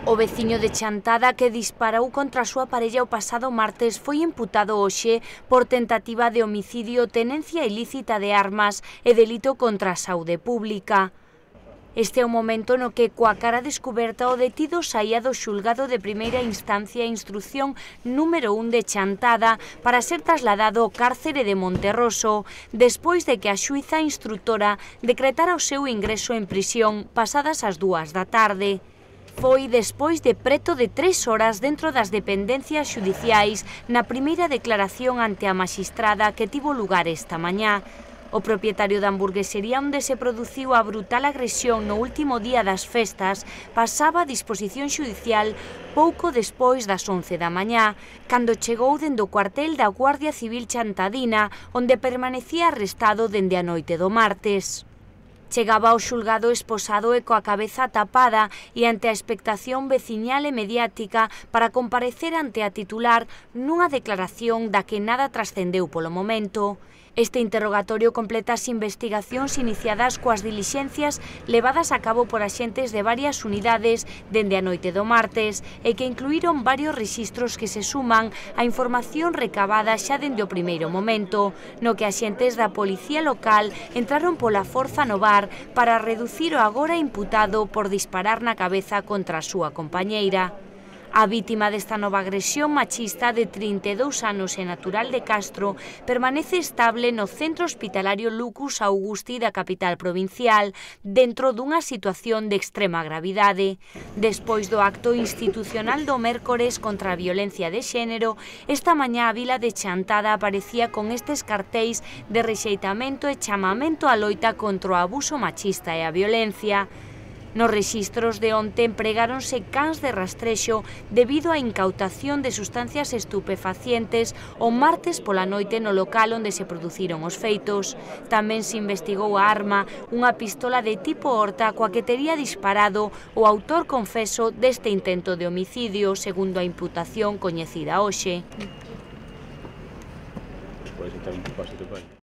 O veciño de Chantada que disparou contra a súa parella o pasado martes foi imputado hoxe por tentativa de homicidio, tenencia ilícita de armas e delito contra a saúde pública. Este é o momento no que, coa cara descuberta, o detido saía do xulgado de primeira instancia e instrucción número 1 de Chantada para ser trasladado ao cárcere de Monterroso, despois de que a xuíza instrutora decretara o seu ingreso en prisión pasadas as 2 da tarde. Foi despois de preto de 3 horas dentro das dependencias xudiciais na primeira declaración ante a maxistrada que tivo lugar esta mañá. O propietario da hamburguesería onde se produciu a brutal agresión no último día das festas pasaba a disposición xudicial pouco despois das 11 da mañá, cando chegou dende o cuartel da Guardia Civil Chantadina, onde permanecía arrestado dende a noite do martes. Chegaba ao xulgado esposado e coa cabeza tapada e ante a expectación veciñal e mediática para comparecer ante a titular nunha declaración da que nada trascendeu polo momento. Este interrogatorio completa as investigacións iniciadas coas dilixencias levadas a cabo por axentes de varias unidades dende a noite do martes e que incluíron varios rexistros que se suman á información recabada xa dende o primeiro momento, no que axentes da Policía Local entraron pola forza no bar para reducir o agora imputado por disparar na cabeza contra a súa compañeira. A vítima desta nova agresión machista de 32 anos e natural de Castro permanece estable no centro hospitalario Lucus Augusti da capital provincial, dentro dunha situación de extrema gravidade. Despois do acto institucional do mércores contra a violencia de xénero, esta mañá a vila de Chantada aparecía con estes cartéis de rexeitamento e chamamento á loita contra o abuso machista e a violencia. Nos rexistros de onte empregáronse cans de rastrexo debido á incautación de sustancias estupefacientes o martes pola noite no local onde se produciron os feitos. Tamén se investigou a arma, unha pistola de tipo Horta coa que tería disparado o autor confeso deste intento de homicidio, segundo a imputación coñecida hoxe.